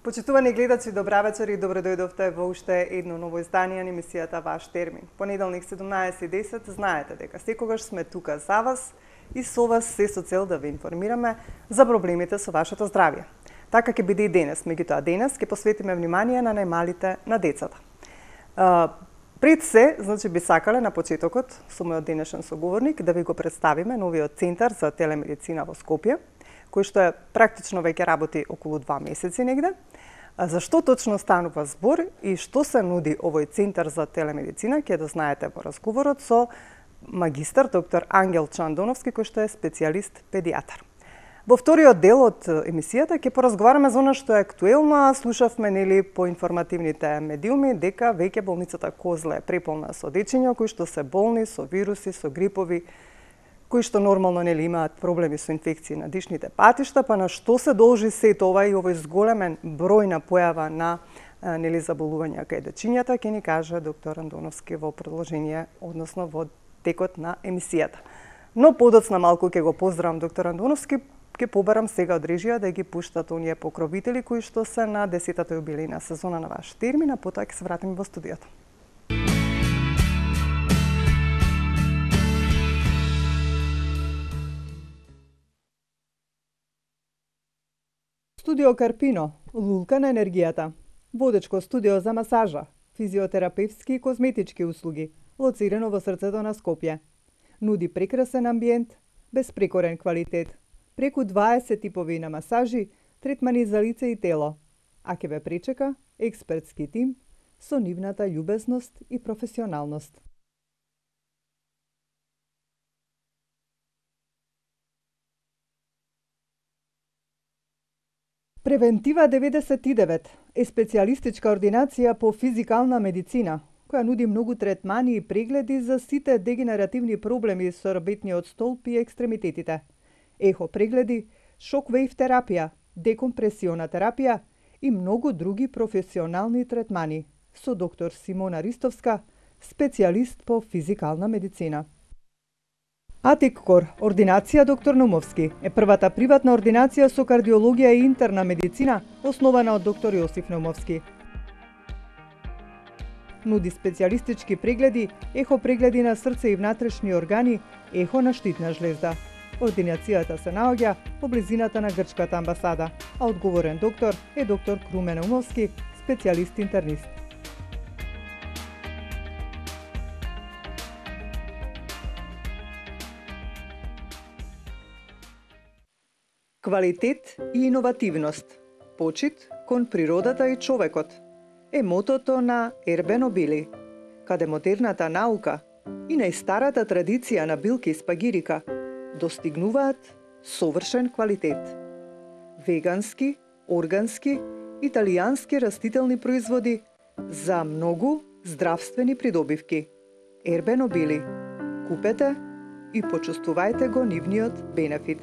Почитувани гледачи, добра вечер и добро дојдовте во уште едно ново издание на емисијата Ваш термин. Понеделник 17:10, знаете дека секогаш сме тука за вас и со вас се со цел да ве информираме за проблемите со вашето здравје. Така ќе биде и денес, меѓутоа денес ќе посветиме внимание на најмалите, на децата. Пред се, значи би сакале на почетокот со мојот денешен соговорник да ви го представиме новиот центар за телемедицина во Скопје, кој што е практично веќе работи околу 2 месеци негде. За што точно станува збор и што се нуди овој центар за телемедицина, ќе да знаете во разговорот со магистар доктор Ангел Чандоновски, кој што е специјалист педијатар. Во вториот дел од емисијата ќе поразговараме за она што е актуелно, слушавме нели по информативните медиуми дека веќе болницата Козле е преполна со дечиња кои што се болни со вируси, со грипови, кои што нормално нели имаат проблеми со инфекции на дишните патишта, па на што се должи се тоа и овој зголемен број на појава на нели заболувања кај дечињата, ќе ни каже доктор Андоновски во продолжение, односно во текот на емисијата. Но подоцна малку ќе го поздравам доктор Андоновски, ќе побарам сега од режија да ги пуштат оние покровители кои што се на 10-та јубилејна сезона на Ваш термин, а потоа ќе се вратиме во студиото. Студио Карпино, лулка на енергијата. Водечко студио за масажа, физиотерапевски и козметички услуги, лоцирано во срцето на Скопје. Нуди прекрасен амбиент, безпрекорен квалитет, преку 20 типови на масажи, третмани за лице и тело, а ќе ве пречека експертски тим со нивната љубезност и професионалност. Превентива 99 е специјалистичка ординација по физикална медицина, која нуди многу третмани и прегледи за сите дегенеративни проблеми со рабетниот столб и екстремитетите. Ехо прегледи, шок-вейв терапија, декомпресиона терапија и многу други професионални третмани со доктор Симона Ристовска, специјалист по физикална медицина. Атиккор, ординација доктор Наумовски, е првата приватна ординација со кардиологија и интерна медицина, основана од доктор Јосиф Наумовски. Нуди специјалистички прегледи, ехо прегледи на срце и внатрешни органи, ехо на штитна жлезда. Ординацијата се наоѓа во близината на грчката амбасада, а одговорен доктор е доктор Крумен Наумовски, специјалист интернист. Квалитет и иновативност, почит кон природата и човекот е мотото на Ербе Нобили, каде модерната наука и најстарата традиција на билки спагирика достигнуваат совршен квалитет. Вегански, органски, италијански растителни производи за многу здравствени придобивки. Ербе Нобили. Купете и почувствувајте го нивниот бенефит.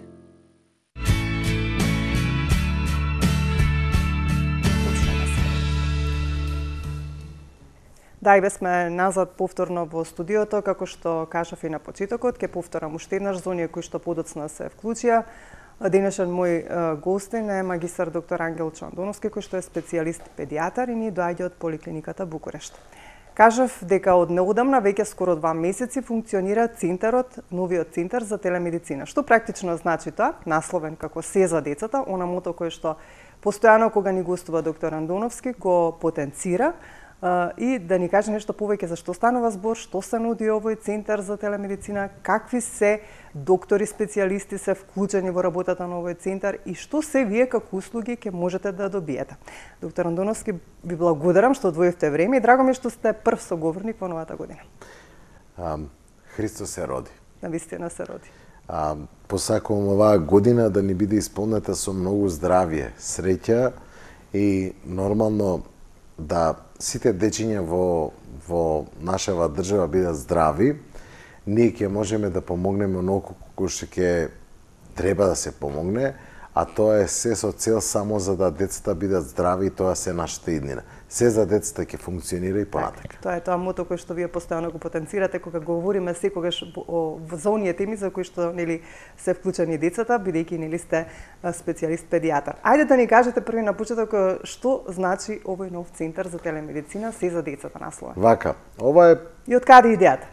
Да, и бе сме назад повторно во студиото, како што кажав и на почетокот, ќе повторам уште еднаш за оние кои што подоцна се вклучија. Денешен мој гостин е магистар доктор Ангел Чандоновски, кој што е специјалист педијатар и ни доаѓа од поликлиниката Букурешт. Кажав дека од неодамна, веќе скоро 2 месеци, функционира центарот, новиот центар за телемедицина. Што практично значи тоа? Насловен како се за децата, она мото кој што постојано кога ни гостува доктор Андоновски го потенцира, и да ни каже нешто повеќе за што станува збор, што се нуди овој центар за телемедицина, какви се доктори специјалисти се вклучени во работата на овој центар и што се вие како услуги ќе можете да добиете. Доктор Андоновски, ви благодарам што одвоивте време и драго ми што сте прв соговорник во новата година. Христос се роди. Навистина се роди. Посакувам оваа година да ни биде исполнета со многу здравје, среќа и нормално да сите дечиња во нашава држава бидат здрави, ние ќе можеме да помогнеме оноку кој што ќе треба да се помогне, а тоа е се со цел само за да децата бидат здрави и тоа се нашата иднина. се за децата ќе функционира и понатака. Тоа е тоа мото кој што вие постојано го потенцирате кога говориме секогаш за оние теми за кои што нели се вклучени децата, бидејќи нели сте специјалист педијатар. Ајде да ни кажете први на почеток што значи овој нов центар за телемедицина се за децата наслова. Вака, ова е И од каде идејата?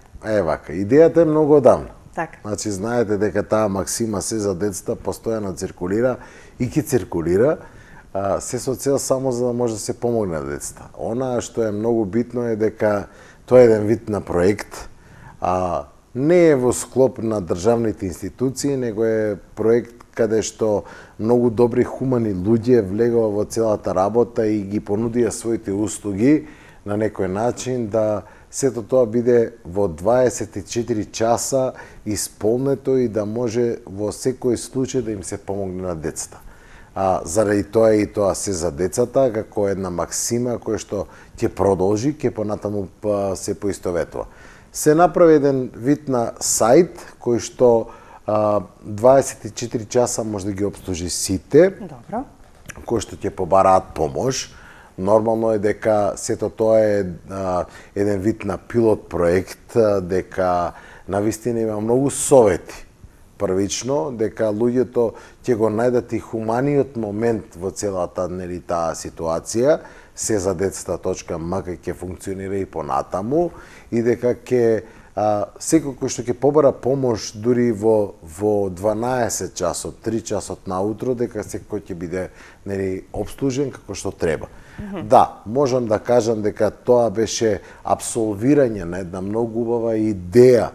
вака, идејата е многу одамна. Така. Значи знаете дека таа максима се за децата постојано циркулира и ќе циркулира, се со цел само за да може да се помогне на децата. Она што е многу битно е дека тоа е еден вид на проект, не е во склоп на државните институции, него е проект каде што многу добри хумани луѓе влегува во целата работа и ги понудија своите услуги на некој начин да сето тоа биде во 24 часа исполнето и да може во секој случај да им се помогне на децата. Заради тоа и тоа се за децата, како една максима која што ќе продолжи, ќе понатаму се поистоветува. Се направи еден вид на сајт кој што 24 часа може да ги обслужи сите, Добро. кои што ќе побараат помош. Нормално е дека сето тоа е еден вид на пилот проект, дека навистина има многу совети. Првично, дека луѓето ќе го најдат и хуманиот момент во целата нели таа ситуација, се за децата.мк ќе функционира и понатаму и дека ќе секој кој што ќе побара помош дури во 12 часот, 3 часот наутро, дека секој ќе биде нели обслужен како што треба. Да, можам да кажам дека тоа беше апсолвирање на една многу убава идеја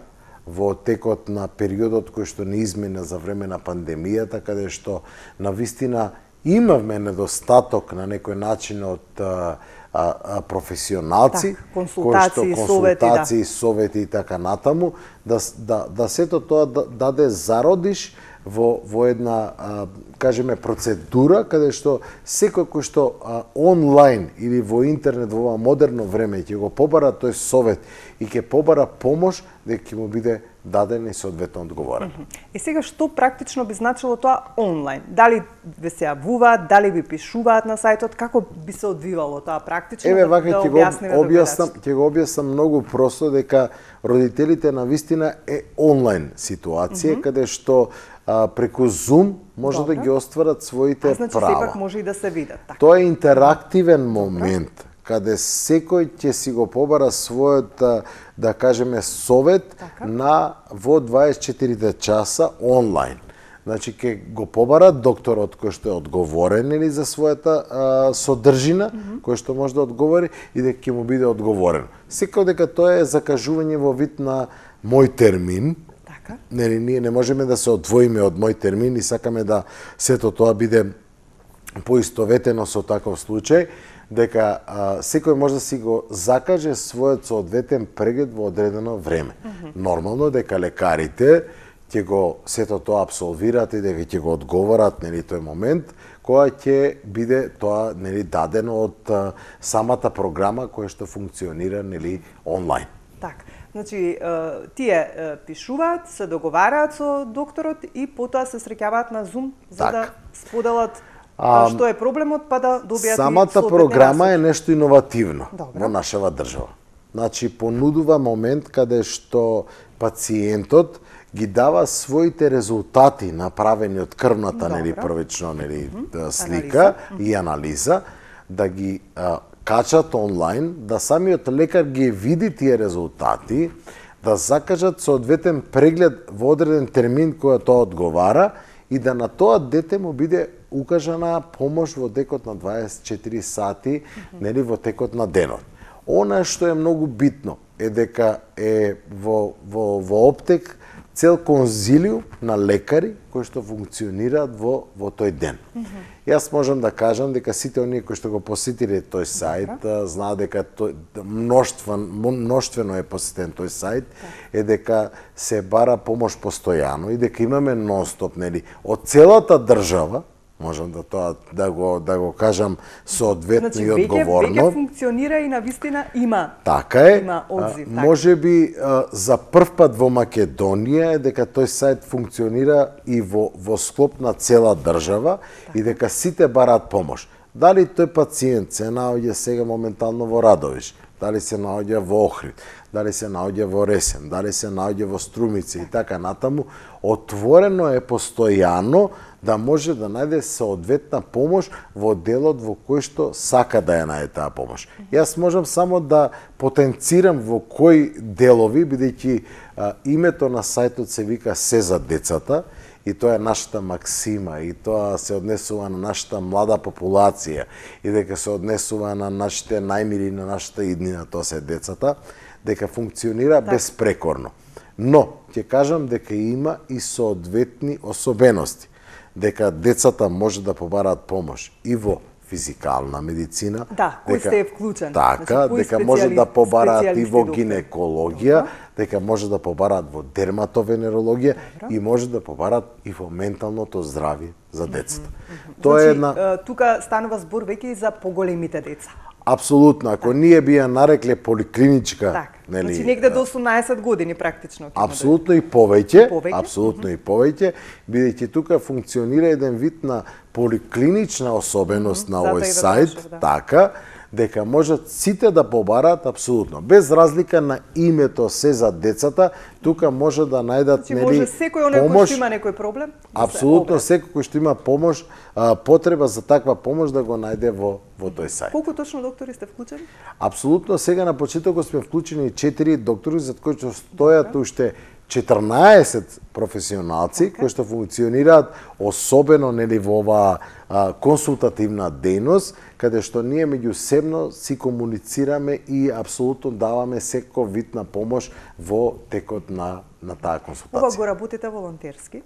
во текот на периодот кој што не измина за време на пандемијата, каде што навистина имавме недостаток на некој начин од професионалци, консултации, совети и така натаму, да сето тоа даде зародиш во една, кажеме, процедура каде што секој кој што онлайн или во интернет во ова модерно време ќе го побара тој совет и ќе побара помош, дека ќе му биде даден и соодветно одговорен. И сега што практично би значило тоа онлайн? Дали ви се јавуваат, дали ви пишуваат на сајтот, како би се одвивало тоа практично? Еве вака ќе го објаснам многу просто дека родителите навистина е онлайн ситуација каде што преку Zoom може да ги остварат своите значи, права. сепак може и да се видат. Така. Тоа е интерактивен момент каде секој ќе си го побара својот, да кажеме, совет во 24 часа онлайн. Значи, ќе го побара докторот кој што е одговорен или за својата содржина, кој што може да одговори и дека ќе му биде одговорен. Секој дека тоа е закажување во вид на мој термин, нели, ние не можеме да се одвоиме од мој термин и сакаме да сето тоа биде поистоветено со таков случај, дека секој може да си го закаже својот соодветен преглед во одредено време. Нормално дека лекарите ќе го сето тоа апсолвираат и дека ќе го одговорат нели тој момент која ќе биде тоа нели дадено од самата програма која што функционира нели онлайн. Така. Значи, тие пишуваат, се договараат со докторот и потоа се среќаваат на Zoom за да споделат што е проблемот, па да добијат самата програма е нешто иновативно во нашава држава. Значи, понудува момент каде што пациентот ги дава своите резултати направени од крвната нели првично нели слика и анализа, да ги качат онлайн, да самиот лекар ги види тие резултати, да закажат соодветен преглед во одреден термин која тоа одговара и да на тоа дете му биде укажана помош во текот на 24 сати, нели во текот на денот. Она што е многу битно е дека е во Оптек цел конзилиум на лекари кои што функционираат во тој ден. Јас можам да кажам дека сите оние кои што го посетиле тој сајт, знаат дека мноштвено е посетен тој сајт, е дека се бара помош постојано и дека имаме нон-стоп, нели, од целата држава, можам да тоа да го кажам соодветно и одговорно. Веќе функционира и навистина има. Така е. Има одзив. Можеби за прв пат во Македонија е дека тој сајт функционира и во склоп на цела држава и дека сите бараат помош. Дали тој пациент се наоѓа сега моментално во Радовиш, дали се наоѓа во Охрид, дали се наоѓа во Ресен, дали се наоѓа во Струмица и така натаму, отворено е постојано да може да најде соодветна помош во делот во кој што сака да ја најде таа помош. Јас можам само да потенцирам во кои делови, бидејќи името на сајтот се вика Се за децата, и тоа е нашата максима, и тоа се однесува на нашата млада популација, и дека се однесува на нашите најмили, на нашата иднина, тоа се децата, дека функционира безпрекорно. Но, ќе кажам дека има и соодветни особености, дека децата може да побараат помош и во физикална медицина, да, кој сте вклучен. Така, дека може да побараат и во гинекологија, дека може да побараат во дерматовенерологија и може да побараат и во менталното здравје за децата. Тоа е една... Тука станува збор веќе и за поголемите деца. Апсолутно, ако ние би ја нарекле поликлиничка, нели, значи негде до 18 години практично. Апсолутно и повеќе, апсолутно и повеќе, бидејќи тука функционира еден вид на поликлинична особеност на овој сајт, така, дека можат сите да побараат апсолутно, без разлика на името Се за децата, тука може да најдат, нели, може секој оној кој што има некој проблем? Апсолутно, секој кој што има помош, потреба за таква помош да го најде во тој сајт. Колку точно доктори сте вклучени? Апсолутно, сега на почетокот сме вклучени 4 доктори, за кои што стојат уште 14 професионалци кои што функционираат особено, нели, во оваа консултативна дејност, каде што ние меѓусебно си комуницираме и апсолутно даваме секој вид на помош во текот на таа консултација. Ова го работите волонтерски?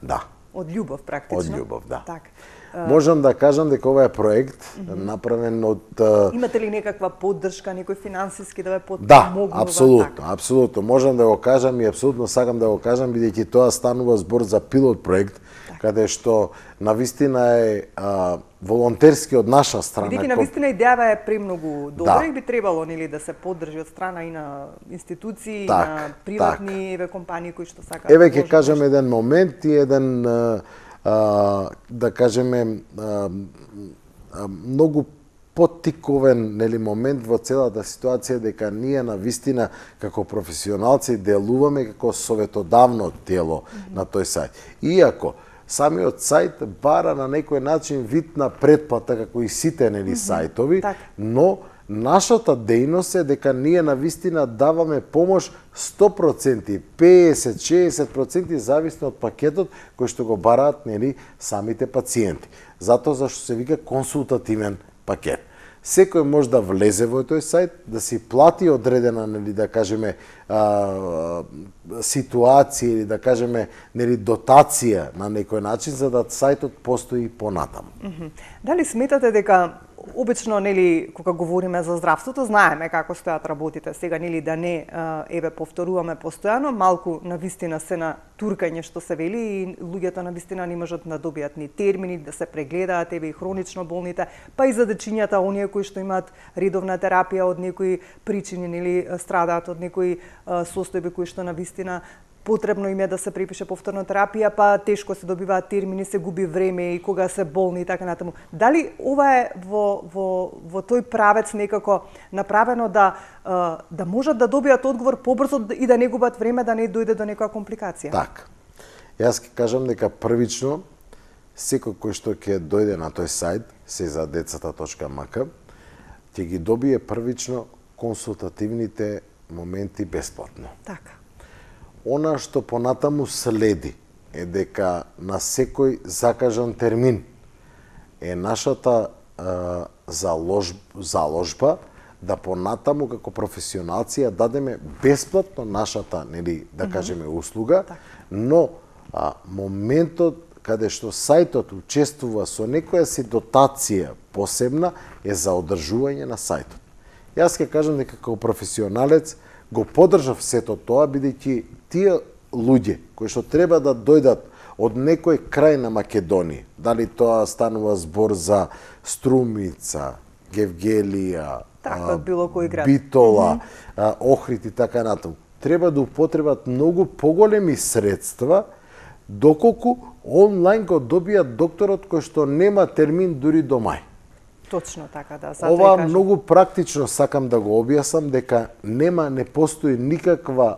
Да. Од љубов практично? Од љубов, да. Так. Можам да кажам дека ова е проект направен од... Имате ли некаква поддршка, некој финансиски да ве Да, подпомогнува? апсолутно, апсолутно. Можам да го кажам и апсолутно сакам да го кажам, бидејќи тоа станува збор за пилот проект, каде што навистина е волонтерски од наша страна. Бидејќи навистина идејава е премногу добра и би требало, нели, да се поддржи од страна и на институции, и на приватни компании кои што сакаат. Еве ќе кажам еден момент и еден да кажеме многу поттиковен, нели, момент во целата ситуација, дека ние навистина како професионалци делуваме како советодавно тело на тој сајт. Иако самиот сајт бара на некој начин вид на претплата како и сите, нели, сајтови, но нашата дејност е дека ние навистина даваме помош 100%, 50-60% зависно од пакетот кој што го бараат, нели, самите пациенти. Затоа зашто се вика консултативен пакет. Секој може да влезе во тој сајт, да си плати одредена, нели, да кажеме, ситуација или да кажеме, нели, дотација на некој начин за да сајтот постои понатаму. Дали сметате дека обично, нели, кога говориме за здравството, знаеме како стојат работите. Сега, нели, да не еве повторуваме постојано, малку навистина се на туркање што се вели и луѓето навистина не можат да добијат ни термини, да се прегледаат, еве и хронично болните, па и за дечињата, оние кои што имаат редовна терапија од некои причини, нели, страдаат од некои состојби кои што навистина потребно им е да се препише повторна терапија, па тешко се добиваат термини, се губи време и кога се болни и така натаму. Дали ова е во тој правец некако направено да можат да добијат одговор побрзо и да не губат време, да не дојде до некоја компликација? Така. Јас ќе кажам дека првично секој кој што ќе дојде на тој сајт сезадецата.мк ќе ги добие првично консултативните моменти бесплатно. Така. Она што понатаму следи е дека на секој закажан термин е нашата заложба да понатаму како професионалци ја дадеме бесплатно нашата, нели, да кажеме, услуга, но моментот каде што сајтот учествува со некоја си дотација посебна е за одржување на сајтот. Јас ќе кажам дека како професионалец го поддржав сето тоа, бидејќи тие луѓе кои што треба да дојдат од некој крај на Македонија, дали тоа станува збор за Струмица, Гевгелија, Битола, Охрид и така натаму, треба да употребат многу поголеми средства, доколку онлайн го добијат докторот кој што нема термин дури до мај. Точно така, да. Ова многу практично сакам да го објаснам, дека не постои никаква,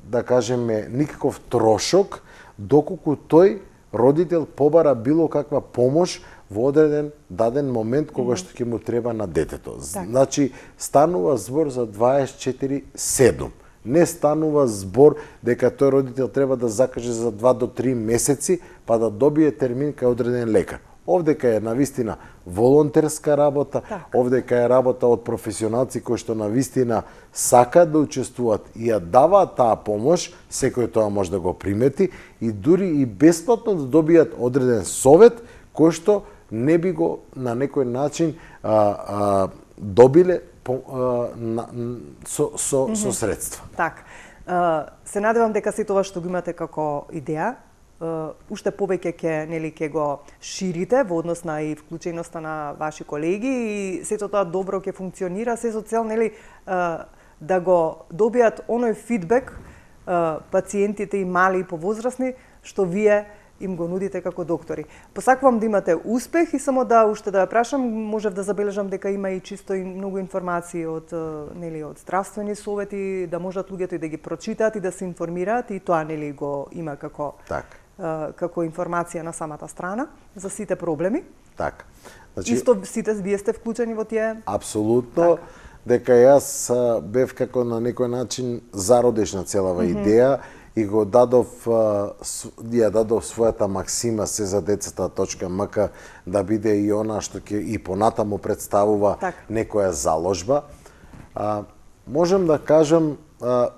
да кажеме, никаков трошок доколку тој родител побара било каква помош во одреден даден момент кога што ќе му треба на детето. Значи, станува збор за 24/7. Не станува збор дека тој родител треба да закаже за 2 до 3 месеци па да добие термин кај одреден лекар. Овдека е навистина волонтерска работа, овдека е работа од професионалци кои што навистина сакаат да учествуваат и ја даваат таа помош, секој тоа може да го примети и дури и бесплатно да добијат одреден совет кој што не би го на некој начин добиле со средства. Так. Се надевам дека се тоа што го имате како идеја, уште повеќе ќе го ширите во однос на и вклученоста на ваши колеги и сето тоа добро ќе функционира, се со цел да го добијат оној фидбек пациентите и мали и повозрасни што вие им го нудите како доктори. Посакувам да имате успех и само уште да ја прашам, можев да забележам дека има и чисто и многу информации од здравствени совети, да можат луѓето и да ги прочитаат и да се информираат и тоа го има како информација на самата страна за сите проблеми. Така. Значи, исто сите вие сте вклучени во тие? Апсолутно. Дека јас бев како на некој начин зародиш на целава идеја и го дадов својата максима се за децата.мк да биде и она што ќе и понатаму представува некоја заложба. Можем да кажам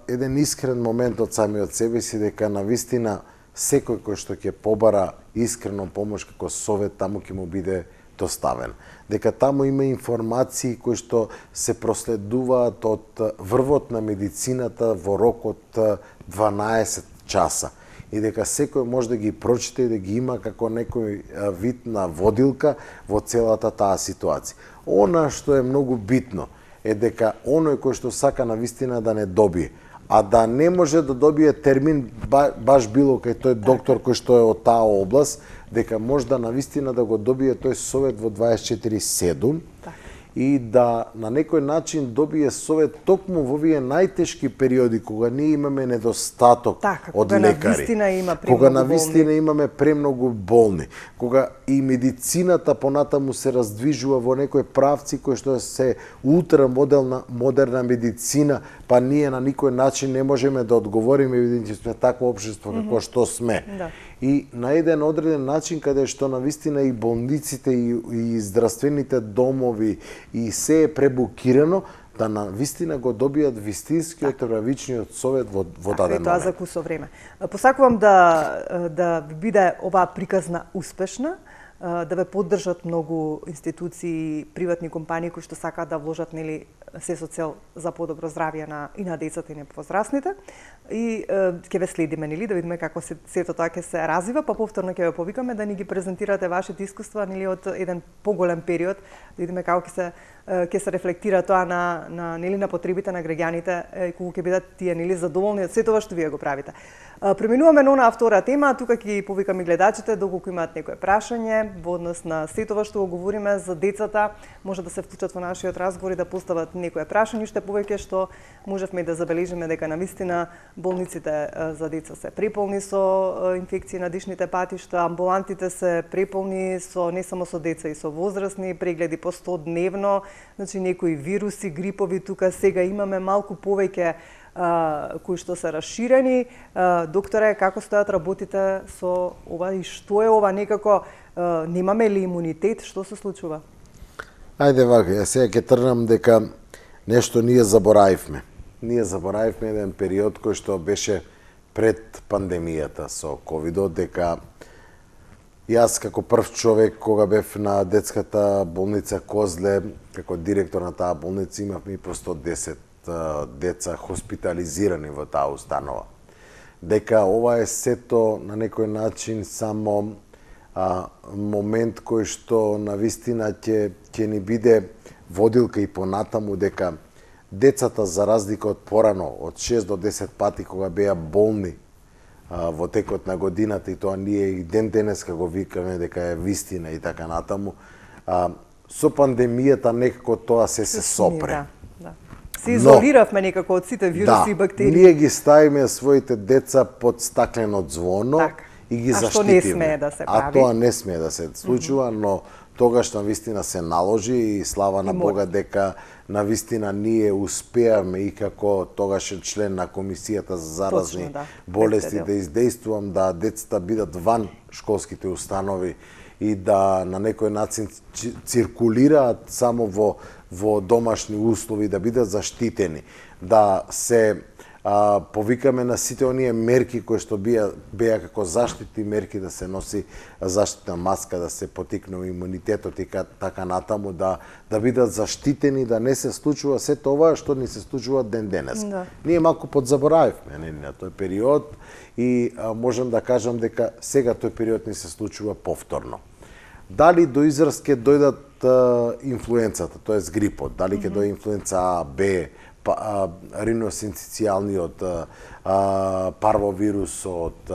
еден искрен момент од самиот себе си дека навистина секој кој што ќе побара искрено помош како совет таму ќе му биде доставен. Дека таму има информации кои што се проследуваат од врвот на медицината во рок од 12 часа и дека секој може да ги прочита и да ги има како некој вид на водилка во целата таа ситуација. Она што е многу битно е дека оној кој што сака навистина да не добие, а да не може да добие термин баш било кај тој доктор кој што е од таа област, дека може да навистина да го добие тој совет во 24/7 и да на некој начин добие совет токму во овие најтешки периоди кога ние имаме недостаток од лекари, кога навистина имаме премногу болни, кога и медицината понатаму се раздвижува во некои правци кои што се модерна медицина, па ние на никој начин не можеме да одговориме бидејќи сме такво општество како што сме. И на еден одреден начин каде што навистина и болниците и здравствените домови и се е пребукирано, да навистина го добијат вистинскиот правичниот совет во даден момент. Тоа за кусо време. Посакувам да биде оваа приказна успешна, да ве поддржат многу институции, приватни компании кои што сакаат да вложат се со цел за подобро здравје и на децата и на возрастните. И ќе ве следиме, да видиме како сето тоа ќе се развива, па повторно ќе ве повикаме да ни ги презентирате вашите искуства од еден поголем период, да видиме како ќе се рефлектира тоа на потребите на граѓаните, кога ќе бидат тие задоволни од сето ова што вие го правите. Преминуваме на онаа втора тема, тука ќе повикаме гледачите доколку имаат некое прашање во однос на сето ова што го говориме за децата, може да се вклучат во нашиот разговор и да постават некое прашање, уште повеќе што можевме да забележиме дека навистина болниците за деца се преполни со инфекции на дишните патишта, амбулантите се преполни не само со деца и со возрастни, прегледи по 100 дневно, значи некои вируси, грипови, тука сега имаме малку повеќе кои што се расширени. Докторе, како стојат работите со ова и што е ова некако, немаме ли имунитет, што се случува? Ајде вака, ја сега ќе тргнам дека нешто ние заборавивме. Ние заборавивме еден период кој што беше пред пандемијата со ковидот, дека јас како прв човек кога бев на детската болница Козле, како директор на таа болница, имавме и по 110 деца хоспитализирани во таа установа. Дека ова е сето на некој начин само момент кој што навистина ќе ни биде водилка и понатаму, дека децата за разлика од порано, од 6 до 10 пати кога беа болни во текот на годината, и тоа ние и ден денеска го викаме дека е вистина и така натаму, со пандемијата некако тоа се сопре. Да. Се изолиравме некако од сите вируси и бактерии. Ние ги ставиме своите деца под стаклено звоно и ги заштитиме. А што не смее да се прави? А тоа не смее да се случува, но тогаш навистина се наложи и слава на Бога дека навистина ние успеавме и како тогаш член на Комисијата за заразни болести да издействувам да децата бидат ван школските установи и да на некој начин циркулираат само во домашни услови, да бидат заштитени, да се повикаме на сите оние мерки кои што беа како заштитни мерки, да се носи заштитна маска, да се потикнува имунитетот и така натаму, да бидат заштитени, да не се случува се тоа што ни се случува ден денес. Ние малку подзаборавивме на тој период и можам да кажам дека сега тој период ни се случува повторно. Дали до израз ќе дојдат инфлуенцата, тоест грипот, дали ќе дојде инфлуенца А, Б, риносинцicijalниот парвовирусот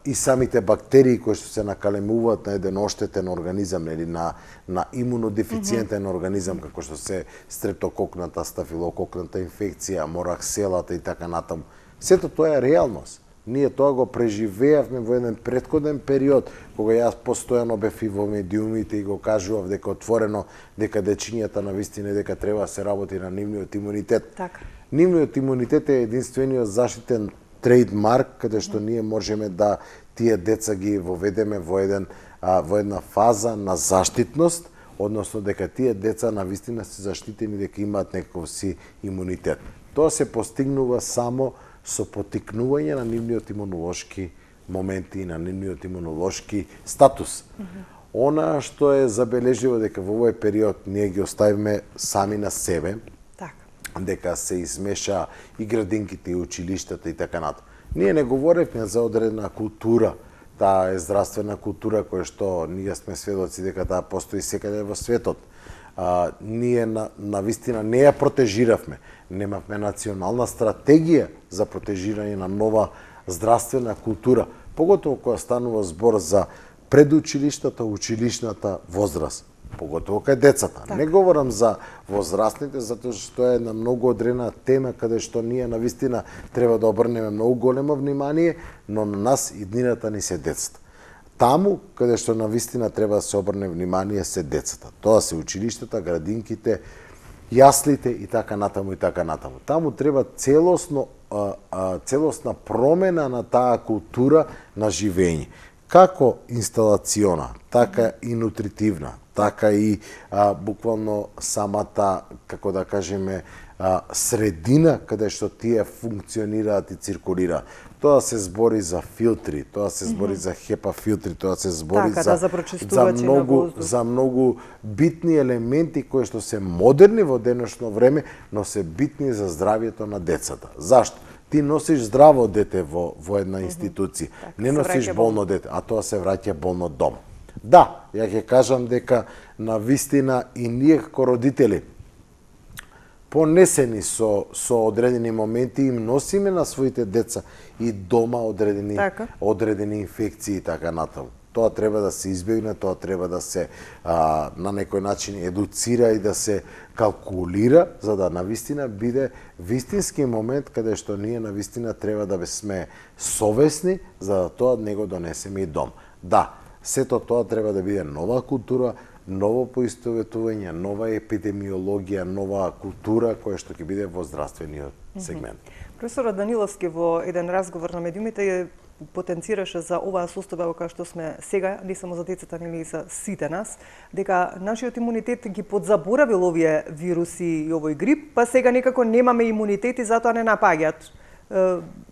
и самите бактерии кои што се накалемуваат на еден оштетен организам или на имунодефициентен организам, како што се стрептококната, стафилококната инфекција, моракселата и така натаму. Сето тоа е реалност. Ние тоа го преживеавме во еден претходен период, кога јас постојано бев и во медиумите и го кажував дека отворено дека дечињата навистина дека треба да се работи на нивниот имунитет. Така. Нивниот имунитет е единствениот заштитен трейдмарк каде што ние можеме да тие деца ги воведеме во една фаза на заштитност, односно дека тие деца навистина се заштитени, дека имаат некој си имунитет. Тоа се постигнува само со потикнување на нивниот имунолошки моменти и на нивниот имунолошки статус. Она што е забележливо дека во овој период ние ги оставиме сами на себе, дека се измеша и градинките и училиштата и така натаму. Ние не говоревме за одредена култура, таа е здравствена култура која што ние сме сведоци дека таа постои секаде во светот. Ние навистина не ја протежиравме. Немавме национална стратегија за протежирање на нова здравствена култура, поготово кога станува збор за предучилиштата, училишната возраст, поготово кај децата. Не говорам за возрастните, затоа што е една многу одредена тема каде што ние навистина треба да обрнеме многу големо внимание, но на нас иднината ни се децата. Таму каде што навистина треба да се обрне внимание се децата. Тоа се училиштата, градинките, јаслите и така натаму и така натаму. Таму треба целосна промена на таа култура на живење. Како инсталациона, така и нутритивна, така и буквално самата, како да кажеме, средина каде што тие функционираат и циркулираат. Тоа се збори за филтри, тоа се збори за HEPA филтри, тоа се збори за многу битни елементи кои што се модерни во денешно време, но се битни за здравјето на децата. Зашто? Ти носиш здраво дете во една институција, не носиш болно дете, а тоа се враќа болно дома. Да, ја ќе кажам дека на вистина и ние како родители понесени со одредени моменти им носиме на своите деца и дома одредени инфекции и така натаму. Тоа треба да се избегне, тоа треба да се на некој начин едуцира и да се калкулира, за да навистина биде вистински момент каде што ние навистина треба да сме совесни за да тоа него донесеме и дом. Да, сето тоа треба да биде нова култура, ново поистоветување, нова епидемиологија, нова култура која што ќе биде во здравствениот сегмент. Професорот Даниловски во еден разговор на медиумите потенцираше за оваа состојба која што сме сега, не само за децата, нели и за сите нас, дека нашиот имунитет ги подзаборавил овие вируси и овој грип, па сега некако немаме имунитет и затоа не напаѓаат.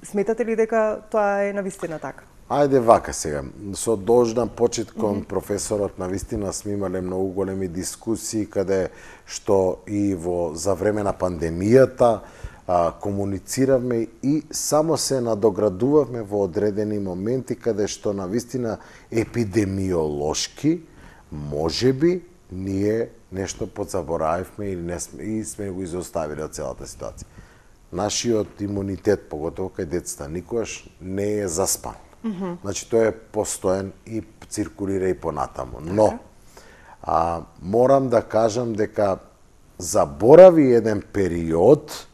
Сметате ли дека тоа е навистина така? Ајде вака сега, со должна почит кон професорот, навистина сме имале многу големи дискусии каде што и за време на пандемијата комунициравме и само се надоградувавме во одредени моменти каде што навистина епидемиолошки можеби ние нешто подзаборавивме и сме го изоставиле од целата ситуација. Нашиот имунитет, поготово кај децата, никогаш не е заспан. Значи, тој е постоен и циркулира и понатаму. Но, Морам да кажам дека заборави еден период,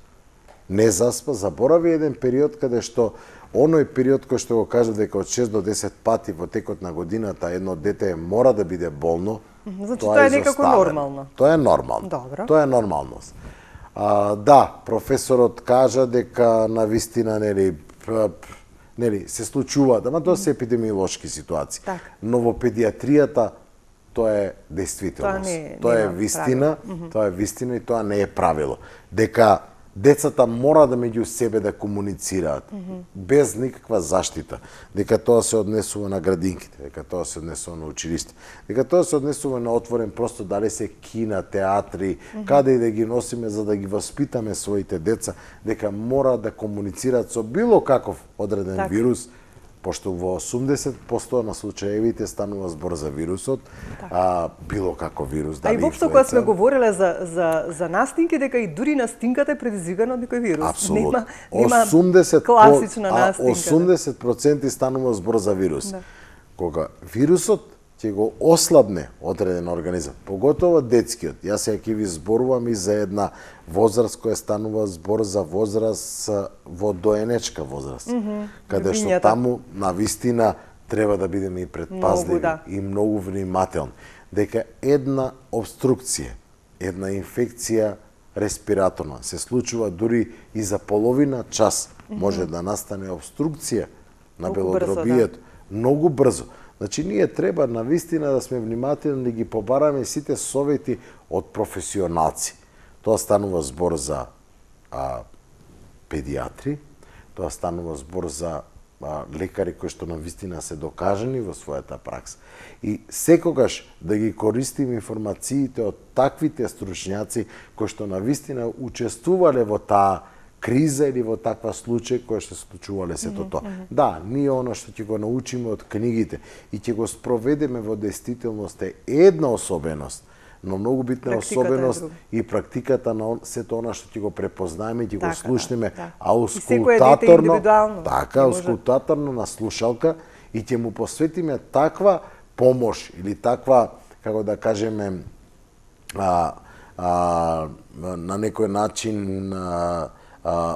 не заспа, заборави еден период каде што оној период кој што го кажа дека од 6 до 10 пати во текот на годината едно дете мора да биде болно, значи тоа е некако нормално. Тоа е нормално. Добро. Тоа е нормалност. Да, професорот кажа дека навистина нели се случуваат, ама тоа се епидемиолошки ситуации. Так. Но во педиатријата тоа е действителност. Тоа е вистина, тоа е вистина и тоа не е правило. Дека децата мора да меѓу себе да комуницираат без никаква заштита, дека тоа се однесува на градинките, дека тоа се однесува на училиште, дека тоа се однесува на отворен простор, дали се кина, театри, каде и да ги носиме за да ги воспитаме своите деца, дека мора да комуницираат со било каков одреден вирус, пошто во 80% на случаевите станува збор за вирусот, било како вирус, дали и воопшто кога сме говореле за настинки, дека и дури настинката е предизвикана од некој вирус. Апсолутно. Нема класична настинка. 80% станува збор за вирус. Кога вирусот ќе го ослабне одреден организам, поготово детскиот. Јас сега ќе ви зборувам и за една возраст која станува збор за возраст во доенечка возраст, каде што таму навистина треба да бидеме и предпазливи и многу внимателни, дека една обструкција, една инфекција респираторна се случува дури и за половина час може да настане обструкција на белодробието многу брзо. Значи, ние треба навистина да сме внимателни, да ги побараме сите совети од професионалци. Тоа станува збор за педиатри, тоа станува збор за лекари кои што навистина се докажани во својата пракса. И секогаш да ги користиме информациите од таквите стручњаци кои што навистина учествувале во таа криза или во таква случај која што се случувале сето тоа. Да, ние она што ќе го научиме од книгите и ќе го спроведеме во действителност е една особеност, но многу битна особеност и практиката на сето она што ќе го препознаеме, ќе го слушнеме аускултаторно, аускултаторно на слушалка и ќе му посветиме таква помош или таква, како да кажеме, на некој начин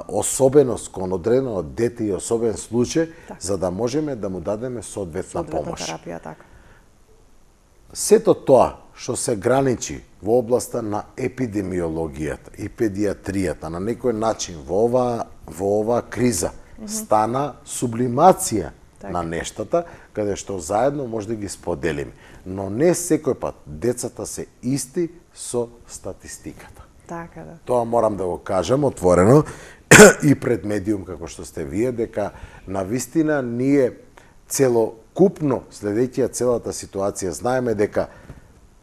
особеност кон одредено дете и особен случај, за да можеме да му дадеме соодветна помош. Терапија, така. Сето тоа што се граничи во областа на епидемиологијата и педиатријата на некој начин во ова криза стана сублимација на нештата, каде што заедно може да ги споделиме. Но не секој пат децата се исти со статистиката. Така да. Тоа морам да го кажам отворено и пред медиум како што сте вие, дека навистина ние целокупно следејќи целата ситуација знаеме дека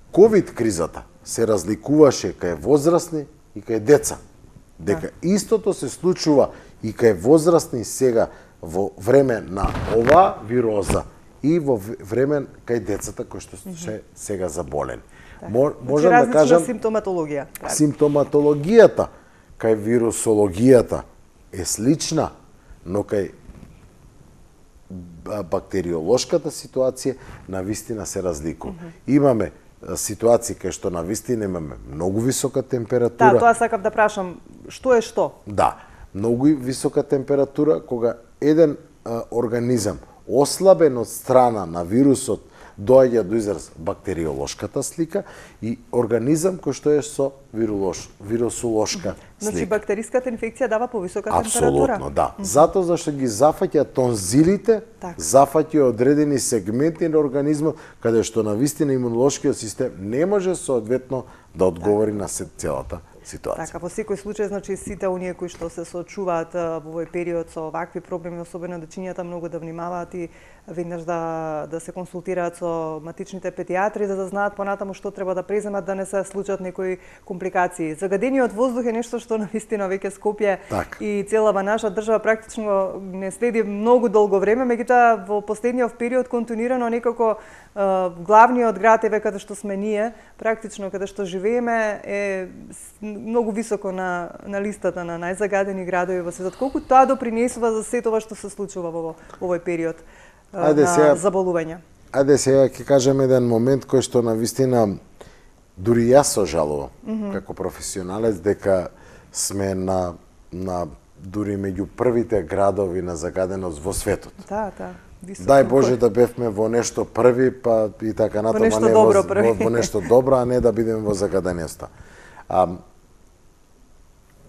ковид кризата се разликуваше кај возрастни и кај деца. Дека истото се случува и кај возрастни сега во време на оваа вироза и во време кај децата кои што се сега заболени. Можам да кажам симптоматологија. Симптоматологијата кај вирусологијата е слична, но кај бактериолошката ситуација навистина се разликува. Имаме ситуации кај што навистина имаме многу висока температура. Да, тоа сакав да прашам, што е што? Да, многу висока температура кога еден организам ослабен од страна на вирусот доаѓа до израз бактериолошката слика и организам кој што е со вирусолошка слика. Значи бактериската инфекција дава повисока температура? Апсолутно, да. Затоа зашто ги зафаќа тонзилите, зафаќа одредени сегменти на организмот каде што навистина имунолошкиот систем не може соодветно да одговори на целата ситуација. Така, во секој случај, значи сите оние кои што се соочуваат во овој период со вакви проблеми, особено дечињата, многу да внимаваат и веднаш да се консултираат со матичните педиатри за да знаат понатаму што треба да преземат да не се случат некои компликации. Загадениот воздух е нешто што навистина веќе Скопје и целава наша држава практично не следи многу долго време, меѓутоа во последниот период континуирано некако главниот град еве каде што сме ние, практично каде што живееме е многу високо на листата на најзагадени градови во светот. Колку тоа допринесува за сето ова што се случува во овој период на заболување? Ајде сега ќе кажем еден момент кој што навистина дури јас се жалувам како професионалец дека сме на дури меѓу првите градови на загаденост во светот. Да. Дај Боже да бевме во нешто први, па и така натаму, нешто добро први. во нешто добро, а не да бидеме во загаденоста.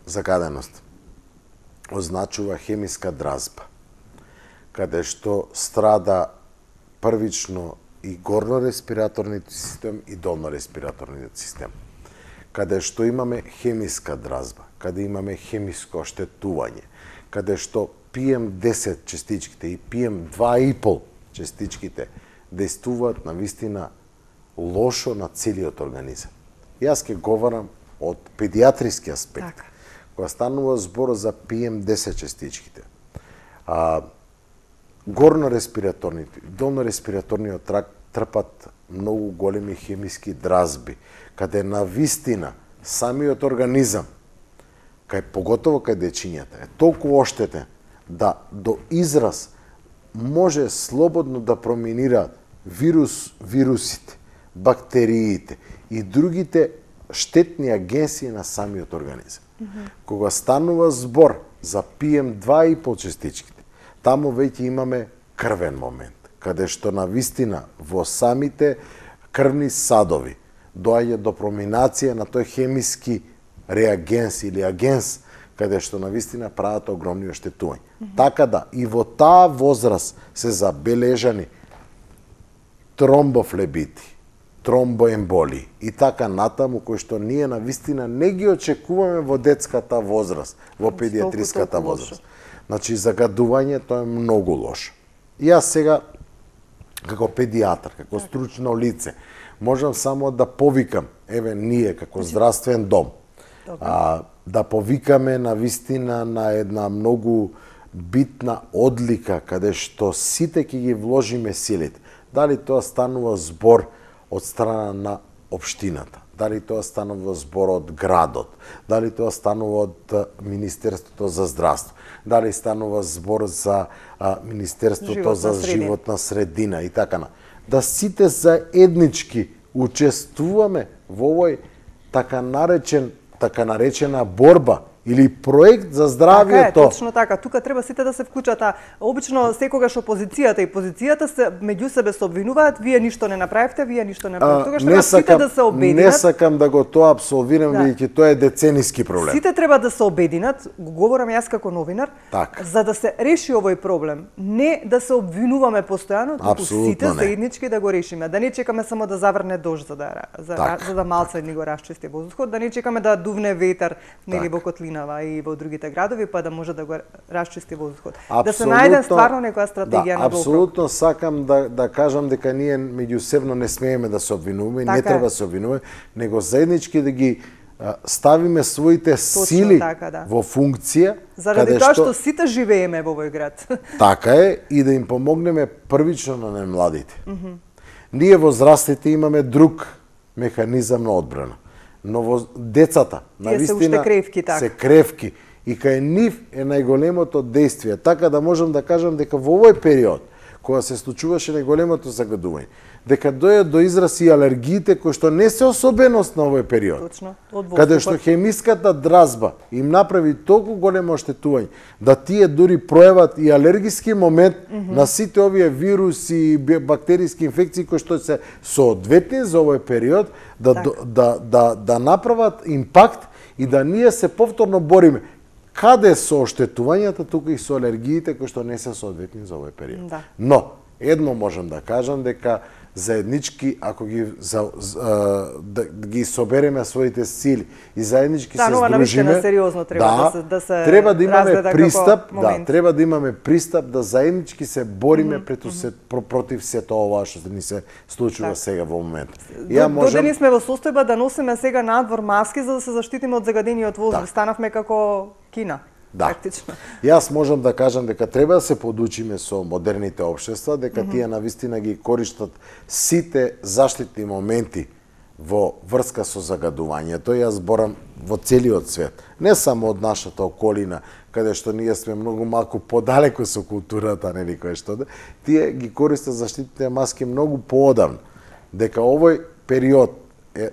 Загаденост означува хемиска дразба, каде што страда првично и горно-респираторниот систем и долно-респираторниот систем. Каде што имаме хемиска дразба, каде имаме хемиско оштетување, каде што PM10 частичките и PM2,5 частичките действуваат навистина лошо на целиот организам. Јас ќе говорам од педиатриски аспект. Така. Кога станува збор за PM10 частичките, горно-респираторните, долно-респираторниот тракт трпат многу големи хемиски дразби, каде навистина самиот организам, поготово кај дечињата, е толку оштетен да до израз може слободно да проминираат вирусите, бактериите и другите штетни агенции на самиот организам. Кога станува збор за PM2,5 частичките, таму веќе имаме крвен момент, каде што навистина во самите крвни садови доаѓа до проминација на тој хемиски реагенс или агенс, каде што навистина прават огромни оштетувања. Така да, и во таа возраст се забележани тромбофлебити, тромбоемболи и така натаму, кои што ние навистина не ги очекуваме во детската возраст, во педиатриската возраст. Значи, загадувањето е многу лошо. И јас сега, како педиатар, како стручно лице, можам само да повикам, ние како здравствен дом, да повикаме навистина на една многу битна одлика, каде што сите ќе ги вложиме силите. Дали тоа станува збор од страна на општината, дали тоа станува збор од градот, дали тоа станува од Министерството за здравство, дали станува збор за Министерството за животна средина и така на. Да сите заеднички учествуваме во овој така наречена борба или проект за здравјето. Така е, точно така. Тука треба сите да се вклучат. Обично секогаш опозицијата и позицијата се меѓу себе се обвинуваат, вие ништо не направивте, вие ништо не направивте. Тогаш треба сите да се обединат. Не сакам да го тоа апсолвирам, бидејќи тоа е децениски проблем. Сите треба да се обединат, го говорам јас како новинар, за да се реши овој проблем. Не да се обвинуваме постојано, туку сите заеднички да го решиме. Да не чекаме само да заврне дожд за да малце ни го расчисти воздухот, да не чекаме да дувне ветар нели во котлина и во другите градови, па да може да го расчисти воздухот. Да се најде стварно некоја стратегија на долгорок. Апсолутно сакам да кажам дека ние меѓусебно не смееме да се обвинуваме, не треба да се обвинуваме, него заеднички да ги ставиме своите сили во функција. Заради тоа што сите живееме во овој град. Така е, и да им помогнеме првично на младите. Ние возрастите имаме друг механизам на одбрана. Но во децата, навистина, се кревки и кај нив е најголемото действие. Така да можам да кажам дека во овој период, кога се случуваше најголемото загадување, дека дојде до израз и алергиите кои што не се особеност на овој период. Точно, каде што хемиската дразба им направи толку големо оштетување, да тие дури пројават и алергиски момент на сите овие вируси и бактериски инфекции кои што се соодветни за овој период, да направат импакт и да ние се повторно бориме. Каде со оштетувањата, тука и со алергиите кои што не се соодветни за овој период. Но, едно можам да кажам дека заеднички, ако ги собереме своите сили и заеднички се здружиме, треба да имаме пристап, треба да имаме пристап да заеднички се бориме против сето ова што ни се случува сега во моментот. Додени сме во состојба да носиме сега надвор маски за да се заштитиме од загадениот воздух. Станавме како Кина. Практично. Јас можам да кажам дека треба да се подучиме со модерните општества, дека тие навистина ги користат сите заштитни моменти во врска со загадувањето. Јас зборам во целиот свет, не само од нашата околина, каде што ние сме многу малку подалеку со културата, нели кој што тие ги користат заштитните маски многу поодамно. Дека овој период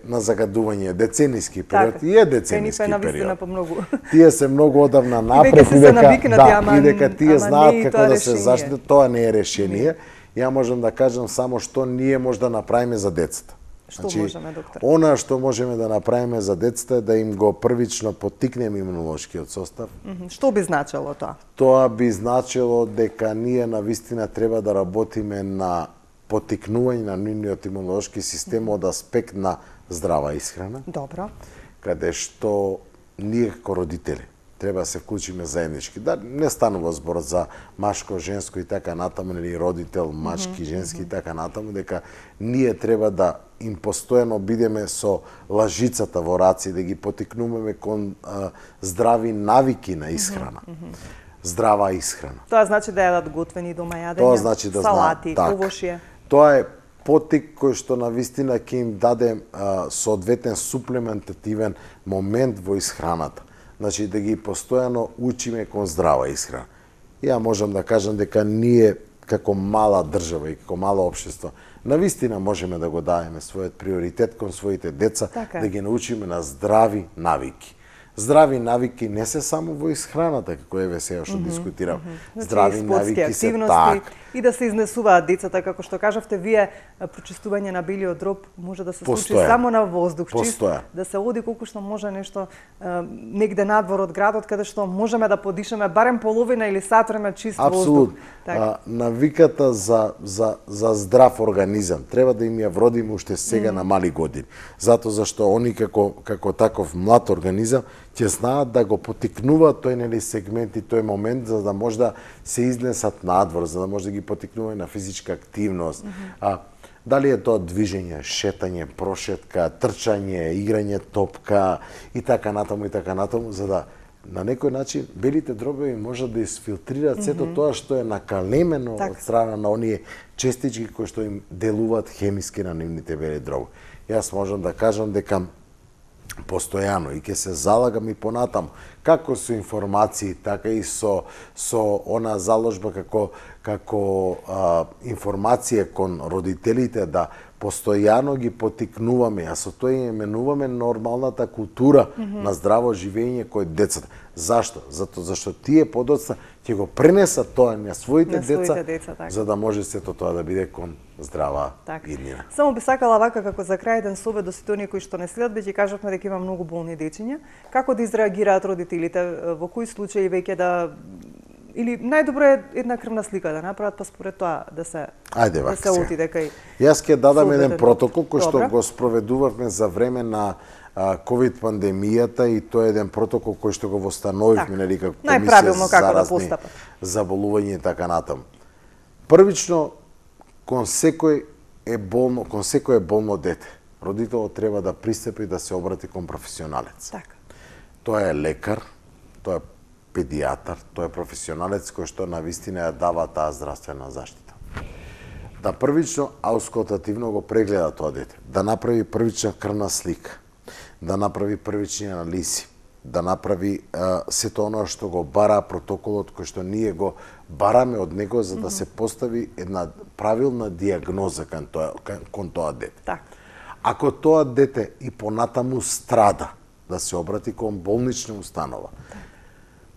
на загадување, децениски период, и е децениски период. По многу. Тие се многу одавна напред и дека тие знаат како да се заштитат, тоа не е решение. Ја можам да кажам само што ние може да направиме за децата. Што можеме, доктор? Она што можеме да направиме за децата е да им го првично поттикнеме имунолошкиот состав. Што би значело тоа? Тоа би значело дека ние навистина треба да работиме на поттикнување на нивниот имунолошки систем од аспект на здрава исхрана. Добро. Каде што ние како родители треба да се вклучиме заеднички. Да не станува збор за машко, женско и така натаму, или родител, машки, женски и така натаму, дека ние треба да им постојано бидеме со лажицата во раци, да ги поттикнуваме кон здрави навики на исхрана. Здрава исхрана. Тоа значи да јадат готвени дома јадења, тоа значи да салати, овошје. Тоа е поттик кој што навистина ќе им даде соодветен суплементативен момент во исхраната. Значи да ги постојано учиме кон здрава исхрана. Ја можам да кажам дека ние како мала држава и како мало општество навистина можеме да го дадеме својот приоритет кон своите деца, да ги научиме на здрави навики. Здрави навики не се само во исхраната, како еве сега што дискутирам. Здрави навики се така. И да се изнесуваат децата, како што кажавте вие, прочистување на белиот дроб може да се случи само на воздух, чист, да се оди колку што може нешто негде надвор од градот, каде што можеме да подишеме барем половина или сат време чист воздух. Навиката за здрав организам треба да им ја вродиме уште сега на мали години. Затоа зашто они како таков млад организам ќе знаат да го поттикнуваат тој сегмент и тој момент за да може да се изнесат надвор, за да може да ги поттикнуваат на физичка активност. Дали е тоа движење, шетање, прошетка, трчање, играње топка и така натаму, за да на некој начин белите дробови можат да изфилтрираат сето тоа што е накалемено од страна на оние честички кои што им делуваат хемиски на нивните бели дробови. Јас можам да кажам дека постојано и ќе се залагам и понатаму, како со информации, така и со она заложба како информација кон родителите, да постојано ги поттикнуваме, а со тоа и именуваме нормалната култура на здраво живење кој децата. Зашто? Зашто тие подоцна ќе го пренесат тоа на своите деца, за да може сето тоа да биде кон здрава иднина. Само би сакала вака како за крај еден совет до сите оние кои што не следат, веќе кажавме дека има многу болни дечиња. Како да изреагираат родителите, во кои случаи веќе да или најдобро е една крвна слика да направат, па според тоа да се отиде кај. Јас ќе дадам еден протокол кој што го спроведувавме за време на ковид пандемијата и тоа е еден протокол кој што го восстановивме нели како комисија за заразни заболувања и така натаму. Првично кон секој е болно дете, родителот треба да пристапи да се обрати кон професионалец. Тоа е лекар, тоа е педијатар, тоа е професионалец кој што навистина ја дава таа здравствена заштита. Да првично аускултативно го прегледа тоа дете, да направи првична крвна слика, да направи првични анализи, да направи сето оно што го бара протоколот кој што ние го бараме од него за да се постави една правилна дијагноза кон тоа дете. Ако тоа дете и понатаму страда, да се обрати кон болнична установа.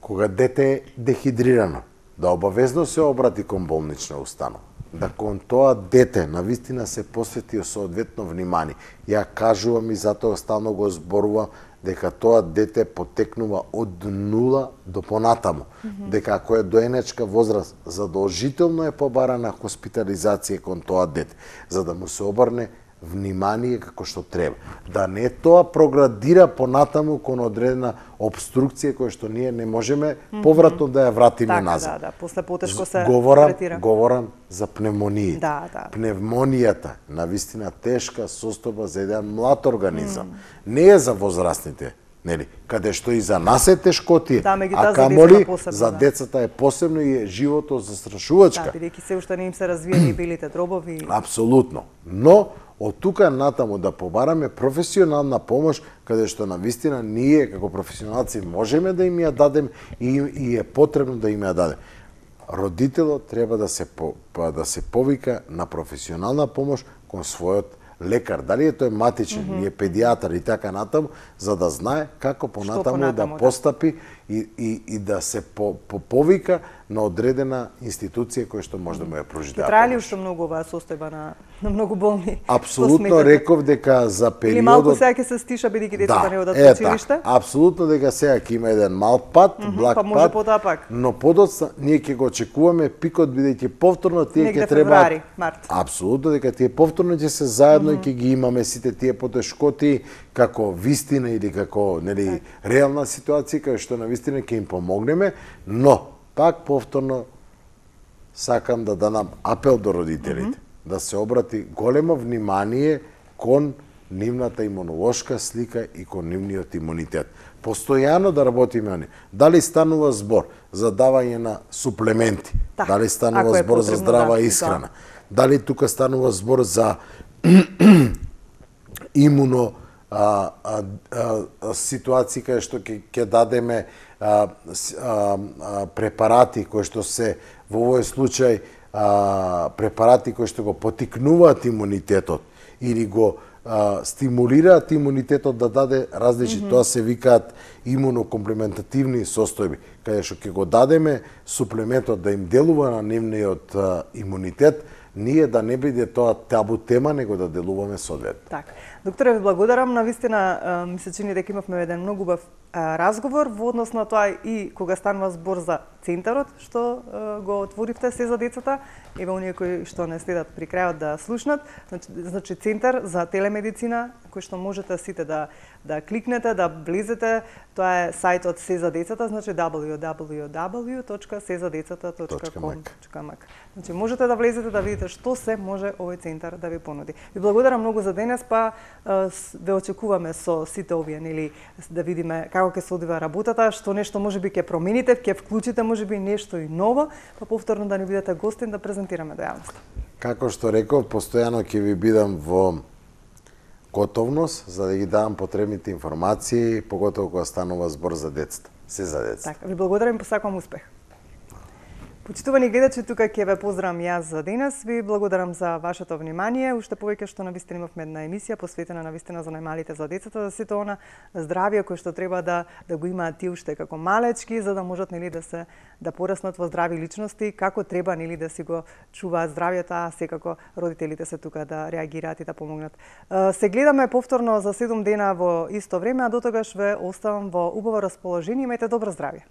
Кога дете е дехидрирано, да обавезно се обрати кон болнична установа. Да кон тоа дете навистина се посвети соодветно внимание. Ја кажувам и затоа стално го зборувам дека тоа дете потекнува од 0 до понатаму. Дека ако е доенечка возраст, задолжително е побарана хоспитализација кон тоа дете, за да му се обрне внимание како што треба. Да не тоа проградира понатаму кон одредена обструкција која што ние не можеме повратно да ја вратиме назад. После потешко се третира. Говорам за пневмонија. Пневмонијата навистина тешка состојба за еден млад организам. Не е за возрастните, нели? Каде што и за нас е тешкотија, а камоли за децата е посебно и е живото застрашувачка. Бидејќи се уште не им се развиени белите дробови. Апсолутно. Но од тука натаму да побараме професионална помош, каде што навистина ние како професионалци можеме да им ја дадем и е потребно да им ја дадем. Родителот треба да се повика на професионална помош кон својот лекар, дали е тој матичен, или е педијатар и така натаму, за да знае како понатаму да постапи и да се повика на одредена институција која што може да му ја пружи да. Трае ли уште многу оваа состојба на многу болни? Апсолутно реков дека за периодот... Или малку сега ќе се стиша бидејќи децата не одат во училиште? Апсолутно дека сега ќе има еден мал пат, благ па може пат, потоа пак. но подоцна ние ќе го очекуваме пикот бидејќи повторно тие ќе треба февруари, март. Апсолутно дека тие повторно ќе се заедно и ќе ги имаме сите тие потешкоти како вистина или како нели реална ситуација кај што на вистина ќе им помогнеме, но пак повторно сакам да дадам апел до родителите да се обрати големо внимание кон нивната имунолошка слика и кон нивниот имунитет. Постојано да работиме они. Дали станува збор за давање на суплементи, дали станува збор за здрава исхрана, дали тука станува збор за имуно ситуации кај што ќе дадеме препарати кои што се во овој случај препарати кои што го потикнуваат имунитетот или го стимулираат имунитетот да даде различни, тоа се викаат имунокомплементативни состојби, каде што ќе го дадеме суплементот да им делува на нивниот имунитет, ние да не биде тоа табу тема, него да делуваме соодветно. Така. Докторе, ви благодарам. Навистина ми се чини дека имавме еден многу убав разговор во однос на тоа и кога станува збор за центарот што го отворивте се за децата, еве оние кои што не следат при крајот да слушнат, значи центар за телемедицина кој што можете сите да кликнете, да влезете, тоа е сајтот се за децата, значи www.sezadecata.com. Значи можете да влезете да видите што се може овој центар да ви понуди. Ви благодарам многу за денес, па ве очекуваме со сите овие, нели, да видиме како ќе се одвива работата, што нешто можеби ќе промените, ќе вклучите можеби нешто и ново, па повторно да ни бидете гостин да презентираме до јавноста. Како што реков, постојано ќе ви бидам во готовност за да ги давам потребните информации, поготово кога станува збор за децата. Се за децата. Така, ви благодарам и посакувам успех. Почитувани гледачи, тука ќе ве поздравам јас за денес. Ви благодарам за вашето внимание. Уште повеќе што навистина имавме една емисија посветена навистина за најмалите, за децата, за сето она здравје кој што треба да го имаат тие уште како малечки, за да можат нели да пораснат во здрави личности, како треба нели да си го чуваат здравјето, а секако родителите се тука да реагираат и да помогнат. Се гледаме повторно за 7 дена во исто време, а дотогаш ве оставам во убаво расположение. Имајте добро здравје.